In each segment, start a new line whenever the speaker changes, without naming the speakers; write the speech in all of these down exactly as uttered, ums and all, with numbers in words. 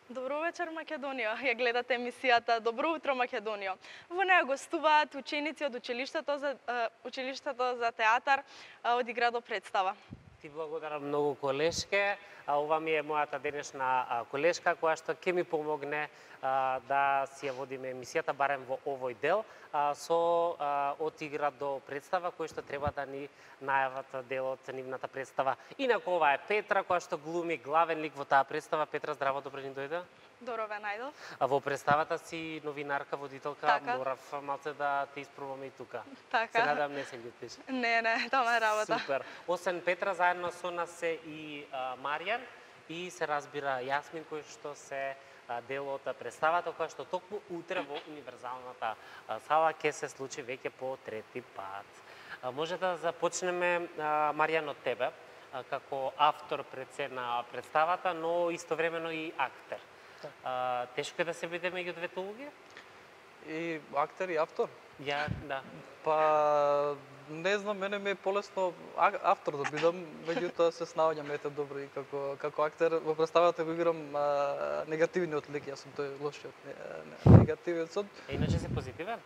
Добро вечер, Македонија. Ја гледате емисијата Добро утро, Македонија. Во неја гостуваат ученици од училиштето за училиштето за театар од Иградо представа.
Ти благодарам многу, колешке. Ова ми е мојата денешна колешка која што ќе ми помогне да си ја водиме емисијата барем во овој дел со од Иградо представа кој што треба да ни најават делот нивната представа. Инаку ова е Петра која што глуми главен лик во таа представа. Петра, здраво, добро ни дојде.
Добро ве најдов.
А во представата си новинарка, водителка,
така.
Морав малце да те испробаме и тука.
Така.
Се надам не се љутиш.
Не, не, тоа е работа.
Супер. Освен Петра, заедно со нас се и а, Маријан и се разбира Јасмин кој што се а, дел од представата која што токму утре во универзалната а, сала ќе се случи веќе по трети пат. А, може да започнеме а, Маријан од тебе а, како автор пред се на представата, но истовремено и актер. А, тешко е да се биде меѓу двете улоги?
И актер и автор?
Ја, да.
Па, не знам, мене ми е полесно автор да бидам, меѓутоа се снаоѓам ете добро и како како актер во представата го играм а, негативниот лик, јас сум тој лошиот негативецот.
Е, иначе се позитивен?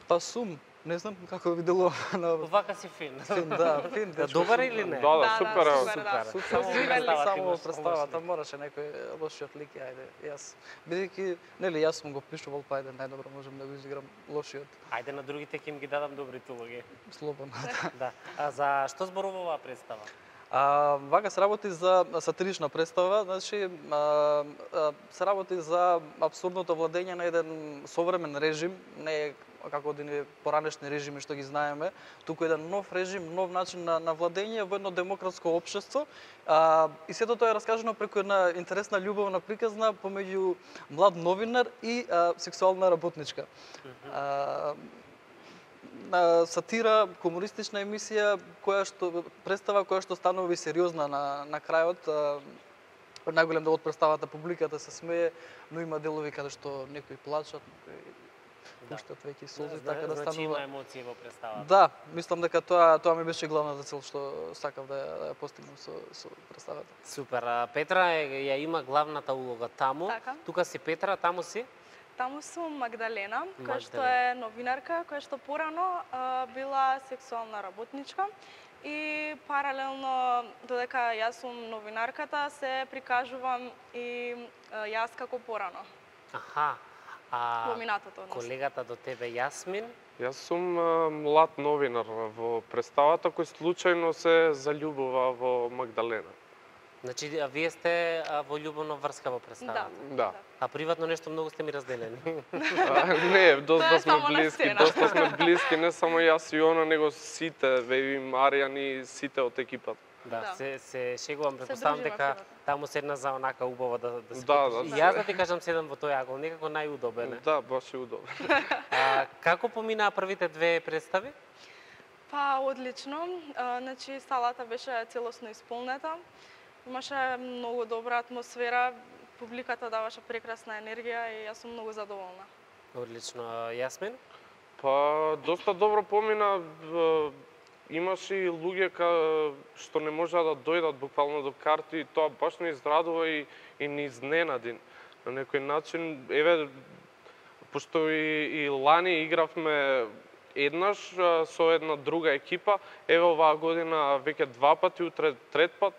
Па сум, не знам како ви делува на
Вака си фин.
фин, да, фин.
Да, добар или не?
Да, да,
Да,
супер.
да,
е.
супер, да.
Супер.
Само
Само
представата, само
имаш
представата
лош лик.
мораше некој лошиот лик, ајде, јас. Бидејќи, нели, јас сум го пишувал, па ајде, најдобро можам да го изиграм лошиот.
Ајде на другите ќе им ги дадам добрите улоги.
Слободно.
Да. А за што зборува оваа представа?
А, вака се работи за сатирична представа, значи а, а, се работи за апсурдното владење на еден современ режим, не е како одини поранешни режими што ги знаеме, туку еден нов режим, нов начин на, на владење во едно демократско општество. А, и сето тоа е раскажано преку една интересна љубовна приказна помеѓу млад новинар и а, сексуална работничка. А, на сатира, комунистична емисија која што представа која што станува и сериозна на на крајот. Најголем дел од представата публиката се смее, но има делови каде што некои плачат, некои пуштат веќе солзи, така да станува.
Значи има емоции во представата.
Да, мислам дека тоа тоа ми беше главната цел што сакав да ја, да ја постигнам со со представата.
Супер. А, Петра е, ја има главната улога таму.
Така.
Тука си Петра, таму си?
Таму сум Магдалена, која што
Магдалена.
е новинарка, која што порано а, била сексуална работничка и паралелно додека јас сум новинарката се прикажувам и а, јас како порано.
Аха. А
Во минатото, односно.
колегата до тебе Јасмин?
Јас сум а, млад новинар во представата кој случајно се заљубува во Магдалена.
Значи, а вие сте а, во љубовна врска во
Да.
представата?
Да.
А приватно нешто многу сте ми разделени.
А, не,
Тоа
доста
е
сме
само на
блиски,
сцена.
доста сме блиски, не само јас и она, него сите, ве и Маријан и сите од екипата.
Да,
Да.
се се шегувам, претпоставам
дружиме
дека
приватно.
таму седна за онака убаво да да се
Да,
потуши.
да.
И јас да ти кажам седам во тој агол, некако најудобен е.
Да, баш е удобно.
А, како поминаа првите две представи?
Па одлично, а, значи салата беше целосно исполнета. Имаше многу добра атмосфера, публиката даваше прекрасна енергија и јас сум многу задоволна.
Одлично. А, Јасмин?
Па, доста добро помина. е, Имаше и луѓе ка, што не можеа да дојдат буквално до карти и тоа баш не израдува и, и ни изненади. На некој начин, еве, пошто и, и лани игравме еднаш а, со една друга екипа, еве оваа година веќе два пати, утре трет пат,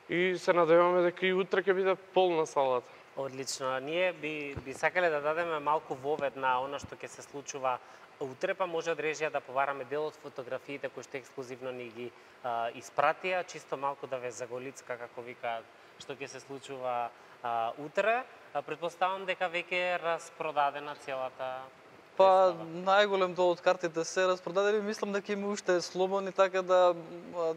и се надеваме дека и утре ќе биде полна салата.
Одлично. Ние би, би сакале да дадеме малку вовед на она што ќе се случува утре, па може од режија да повараме дел од фотографиите кои што ексклузивно ни ги а, испратија, чисто малку да ве заголицка, како викаат, што ќе се случува а, утре. А, предпоставам дека веќе е распродадена целата
Па
представа.
најголем дел од картите се распродадени, мислам дека има уште слободни, така да а,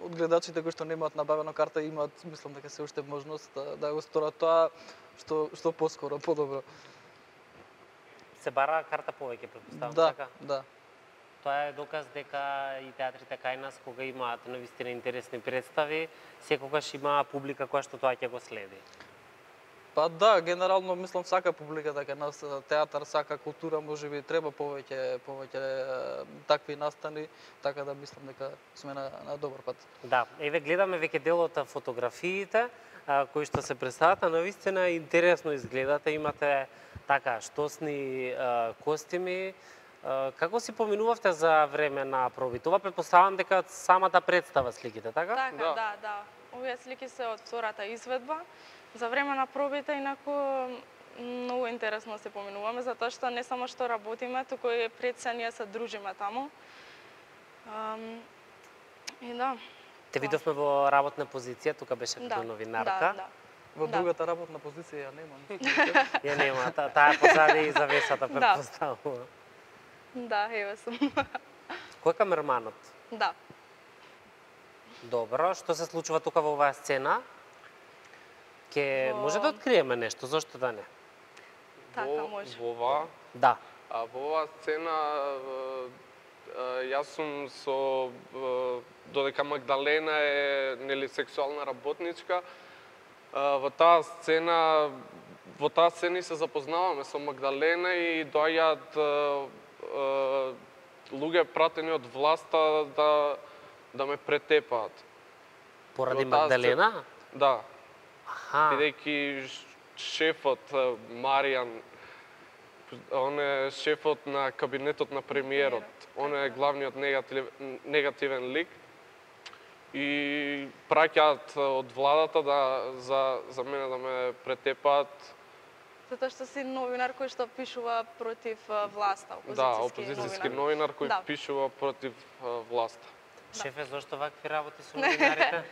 од гледачите кои што немаат набавена карта имаат, мислам дека се уште можност да, да го сторат тоа што што поскоро, подобро.
Се бара карта повеќе, предпоставам,
Да,
така?
да.
Тоа е доказ дека и театрите кај нас, кога имаат навистина интересни представи, секогаш има публика која што тоа ќе го следи.
Па да, генерално мислам сака публика дека нас театар, сака култура, можеби треба повеќе повеќе е, такви настани, така да мислам дека сме на, на добар пат.
Да, еве гледаме веќе дел од фотографиите а, кои што се представат, а навистина интересно изгледате, имате така штосни а, костими. А, како си поминувавте за време на проби? Това претпоставам дека самата представа сликите, така?
Така,
Да.
да, да. Овие слики се од втората изведба. За време на пробите, инаку многу интересно се поминуваме, затоа што не само што работиме, туку и пред се ние се дружиме таму. Um, и да.
Те видовме во работна позиција, тука беше
Да,
като новинарка.
да, да.
Во
Да.
другата работна позиција ја немам.
Ја нема, та, таа е позади и завесата
Да.
претпоставува.
Да, еве сум.
Кој е камерманот?
Да.
Добро, што се случува тука во оваа сцена? Ке
Во-
може да откриеме нешто, зошто да не?
Така
Во-
може.
Во оваа,
Да.
а во оваа сцена е, е, јас сум со е, додека Магдалена е нели сексуална работничка, е, во таа сцена во таа сцена се запознаваме со Магдалена и доаѓаат е, е, луѓе пратени од власта да да ме претепаат.
Поради
Во таа
Магдалена?
Да,
Аха.
бидејќи ш- шефот е, Маријан, он е шефот на кабинетот на премиерот. Он е главниот негатив, негативен лик и праќаат од владата да за за мене да ме претепаат.
Затоа што си новинар кој што пишува против а, власта, опозицијски,
Да, опозицијски новинар кој
Да.
пишува против а, власта.
Шефе, зошто вакви работи со новинарите?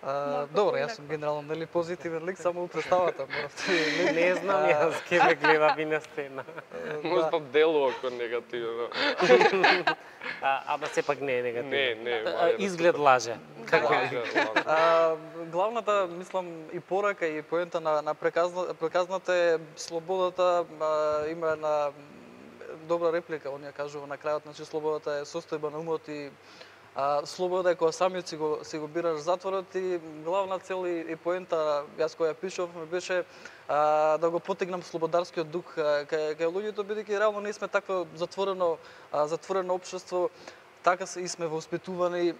А,
Малку
добро, јас
поинаку.
сум генерално нели позитивен лик само у представата, моравте. нели?
Не знам јас, ке ме гледа би на сцена.
Може да делува како негативно.
А, ама сепак не е негативно.
Не, не,
А,
Маријана,
Изглед лаже. Како е?
Лаже, лаже.
А, главната, мислам, и порака и поента на, на преказна, преказната е слободата, а, има една добра реплика, он ја кажува на крајот, значи слободата е состојба на умот и а, слобода е кога самиот си го, си го бираш затворот и главна цел и, и поента, јас која ја пишав, ми беше а, да го потегнам слободарскиот дух а, кај, кај луѓето, бидејќи реално ние сме такво затворено, а, затворено општество, така се и сме воспитувани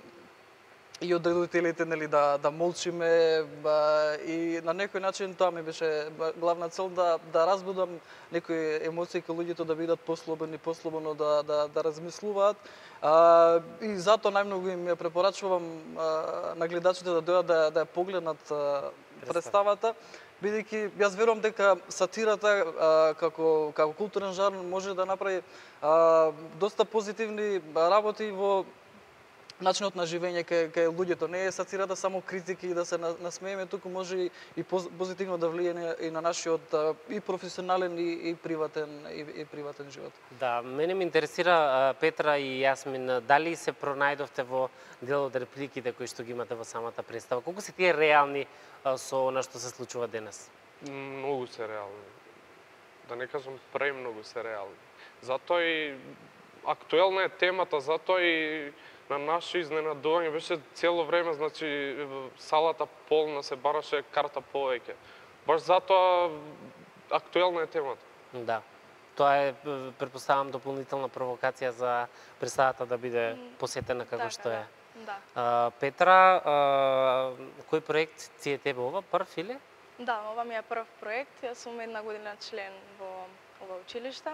и од родителите нели да да молчиме ба, и на некој начин тоа ми беше ба, главна цел да да разбудам некои емоции кај луѓето да бидат послободни, послободно да да да размислуваат. А, и затоа најмногу им ја препорачувам а, на гледачите да дојдат да да ја погледнат а, представата, бидејќи јас верувам дека сатирата а, како како културен жанр може да направи а, доста позитивни работи во начинот на живење кај кај луѓето. Не е сатирата само критики и да се на- насмееме, туку може и, и поз- позитивно да влијае и на нашиот а, и професионален и, и приватен и, и приватен живот.
Да, мене ме интересира а, Петра и Јасмин, дали се пронајдовте во дел од репликите кои што ги имате во самата представа? Колку се тие реални а, со она што се случува денес?
Многу се реални. Да не кажам премногу се реални. Затоа и актуелна е темата, затоа и на наше изненадување беше цело време, значи салата полна, се бараше карта повеќе. Баш затоа актуелна е темата.
Да. Тоа е, е, претпоставам, дополнителна провокација за представата да биде посетена како
Така,
што е.
Да. Да.
А, Петра, а, кој проект ти е тебе ова? Прв или?
Да, ова ми е прв проект. Јас сум една година член во ова училиште.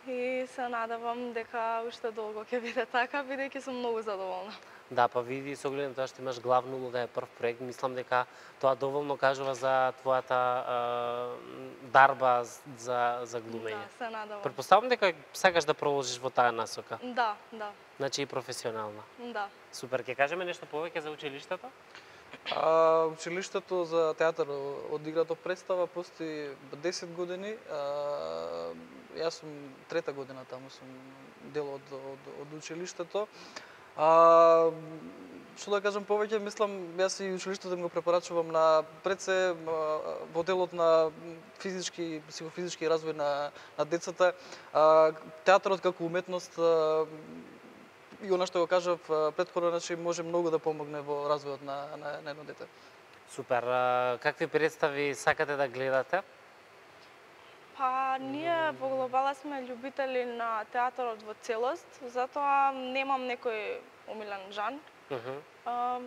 И се надевам дека уште долго ќе биде така, бидејќи сум многу задоволна.
Да, па види, со оглед на тоа што имаш главна улога е прв проект, мислам дека тоа доволно кажува за твојата а, дарба за за глумење.
Да, се надевам.
Претпоставам дека сакаш да продолжиш во таа насока,
Да, да,
значи и професионална.
да.
Супер, ќе кажеме нешто повеќе за училиштето?
А, училиштето за театар од играто представа постои десет години. А, јас сум трета година таму, сум дел од, од, од училиштето. А, што да кажам повеќе, мислам, јас и училиштето им го препорачувам на пред се а, во делот на физички, психофизички развој на, на децата. А, театарот како уметност а, и она што го кажав претходно, значи може многу да помогне во развојот на, на, на едно дете.
Супер. А, какви представи сакате да гледате?
Па, ние во Глобала сме љубители на театарот во целост, затоа немам некој омилен жан.
Uh -huh.
А,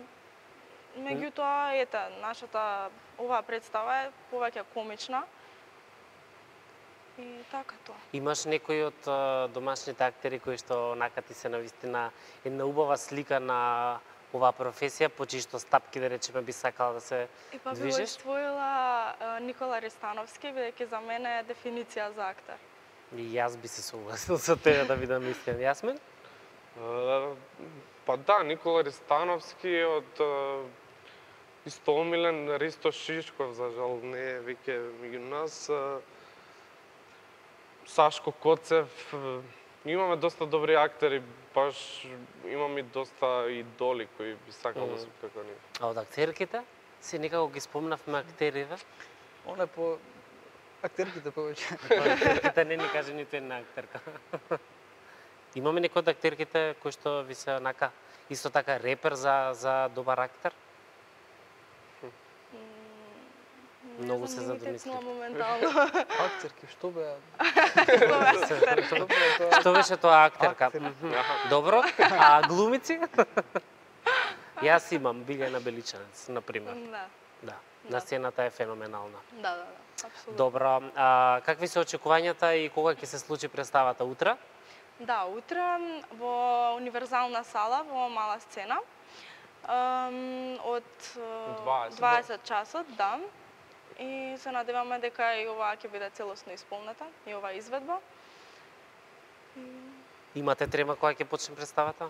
меѓутоа, ете, нашата оваа представа е повеќе комична. И така тоа.
Имаш некој од а, домашните актери кои што онака ти се навистина една убава слика на оваа професија, по чиито стапки, да речеме, би сакала да се
И па би го
движиш?
издвоила а, Никола Ристановски, бидејќи за мене е дефиниција за актер.
И јас би се согласил со тебе да бидам искрен. Јасмин?
А, Па да, Никола Ристановски е од а, исто омилен Ристо Шишков, за жал не е веќе меѓу нас. А, Сашко Коцев, имаме доста добри актери, баш имам и доста идоли кои би сакал да се како нив.
А од актерките? Си некако ги спомнавме актериве.
Оне по актерките повеќе.
Актерките не ни каже ниту една актерка. Имаме некој од актерките кои што ви се онака исто така репер за за добар актер? Многу се задомислив.
моментално.
Актерки, што беа?
Актер.
Што беа тоа?
Што беше тоа актерка?
Актер.
Мгм. Добро. А глумици? Јас имам Билјана Беличанец, на пример.
Да,
Да. На сцената е феноменална.
да, да, да, апсолутно.
Добро. А какви се очекувањата и кога ќе се случи представата? Утре?
Да, утре во универзална сала во мала сцена. Ем, од е,
дваесет.
дваесет часот, да. И се надеваме дека и ова ќе биде целосно исполнета, и оваа изведба.
Имате трема кога ќе почне представата?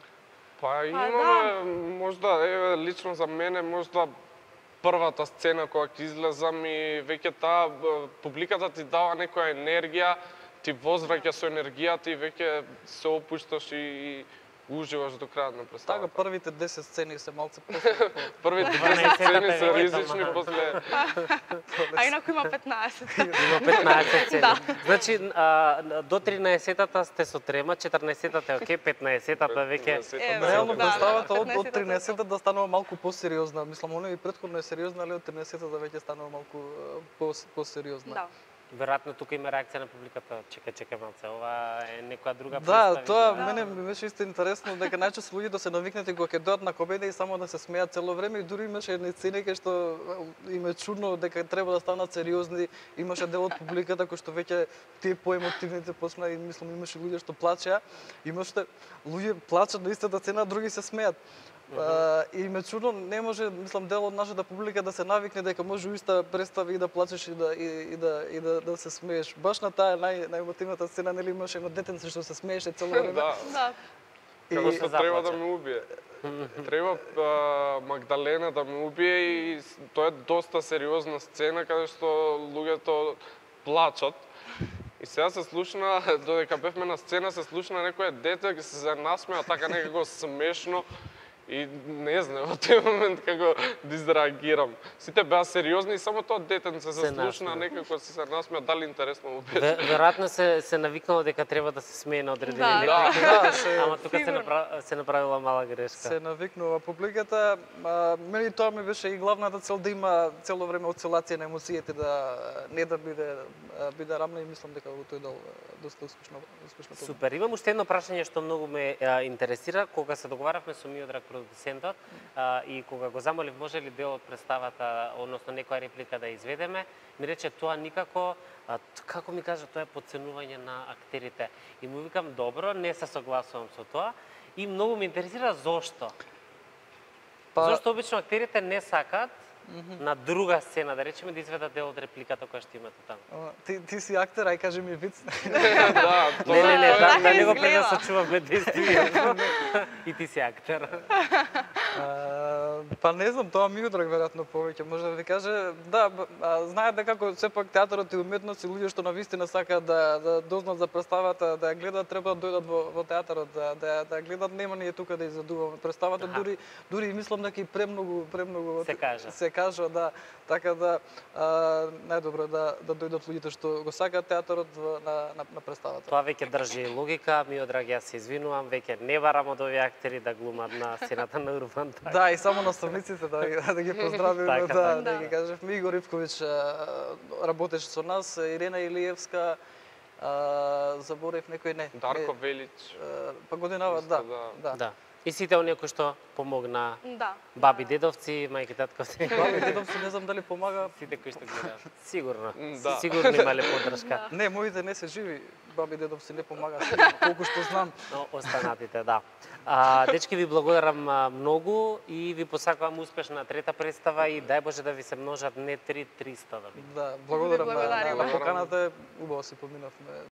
Па
да.
имаме, можда, еве, лично за мене, можда првата сцена кога ќе излезам и веќе таа б, публиката ти дава некоја енергија, ти возвраќа со енергијата и веќе се опушташ и уживаш до крајот на
Така,
представата.
првите десет сцени се малце после.
Првите
дванаесет
десет сцени се
е
ризични,
ама.
после
А инаку има петнаесет.
Има петнаесет цели.
Да.
Значи, а, до тринаесеттата сте со трема, четрнаесеттата е окей, петнаесеттата веќе...
Е,
Реално
да,
представата од, од
петнаесетата
тринесетата да станува малку посериозна. Мислам, оно и претходно е сериозна, али од тринесетата веќе станува малку е, пос, посериозна.
Да.
Веројатно тука има реакција на публиката. Чека, чека малце, ова е некоја друга
Да,
представа.
тоа
Да.
мене ми беше исто интересно дека најчесто луѓето се навикнати кога ќе дојдат на комедија и само да се смеат цело време и дури имаше едни сцени кај што им е чудно дека треба да станат сериозни. Имаше дел од публиката кој што веќе тие поемотивните почна и мислам имаше луѓе што плачеа, имаше луѓе плачат на истата сцена, други се смеат. Uh, и ме чудно, не може, мислам, дел од нашата публика да се навикне дека може у иста представа и да плачеш и да и, и да и да да се смееш. Баш на таа нај најемотивната сцена нели имаше едно детенце што се смееше цело време.
да,
Да.
како
И-
што треба да ме убие. Треба а, Магдалена да ме убие и с- тоа е доста сериозна сцена каде што луѓето плачат. И сега се слушна, додека бевме на сцена, се слушна некој дете ќе се насмеа така некако смешно. И не знам, во тој момент како да изреагирам. Сите беа сериозни и само тоа детенце се
Се
слушна,
насмеа.
некако се се насмеа, дали интересно му беше.
Ве- Веројатно се се навикнало дека треба да се смее на одредени
Да.
реплики.
Да, се-
Ама тука се,
Сигурно.
направ... се направила мала грешка.
Се навикнува публиката. А, мене тоа ми беше и главната цел да има цело време оцелација на емоциите, да не да биде а, биде рамна и мислам дека во тој дел а, доста успешно успешно помина.
Супер. Имам уште едно прашање што многу ме а, интересира. Кога се договаравме со Миодраг продуцентот а, и кога го замолив може ли дел од представата, односно некоја реплика да изведеме, ми рече тоа никако, а, т- како ми кажа, тоа е подценување на актерите. И му викам, добро, не се согласувам со тоа. И многу ме интересира зошто.
Па-
Зошто обично актерите не сакаат на друга сцена, да речеме, да изведат дел од репликата која што имате таму.
Ама, Ти, ти си актер, ај кажи ми виц.
Да, тоа
Не, не, не,
е-
да,
така
да не го
изгледа.
пренасочуваме действието. И ти си актер.
А, па не знам, тоа ми удраг веројатно повеќе може да ви каже. Да, б- а, знаете дека како сепак театарот и уметност и луѓе што навистина сакаат да да дознаат за представата, да ја гледаат, треба да дојдат во, во театарот, да да да ја гледаат, нема ние тука да изадуваме представата,
Аха.
дури дури и мислам дека и премногу премногу
Се кажа.
се кажа, да, така да а, најдобро да да дојдат луѓето што го сакаат театарот во- на на, на представата.
Тоа веќе држи логика, ми одраг, јас се извинувам, веќе не барам од овие актери да глумат на сцената на Урбан.
Да, и само на наставниците да, ги- да ги поздравиме,
Така,
да,
така.
да ги кажевме. Игор Ивковиќ работеше со нас, Ирена Илиевска, а, заборев некој не.
Дарко
не,
Велич.
а, па годинава,
Исто,
да,
да.
да.
Да. И сите оние кои што помогна
Да.
баби, дедовци, мајки, татковци.
Баби дедовци не знам дали помага.
Сите кои што гледаат. Сигурно.
М, да.
Сигурно имале поддршка.
Не, моите не се живи. Баби дедовци не помагаат, сигурно, колку што знам.
Но останатите, да. А, дечки, ви благодарам а, многу и ви посакувам успешна трета представа и дај Боже да ви се множат не три, триста да ви.
Да, благодарам на, на,
благодариме.
на поканата, убаво си поминавме.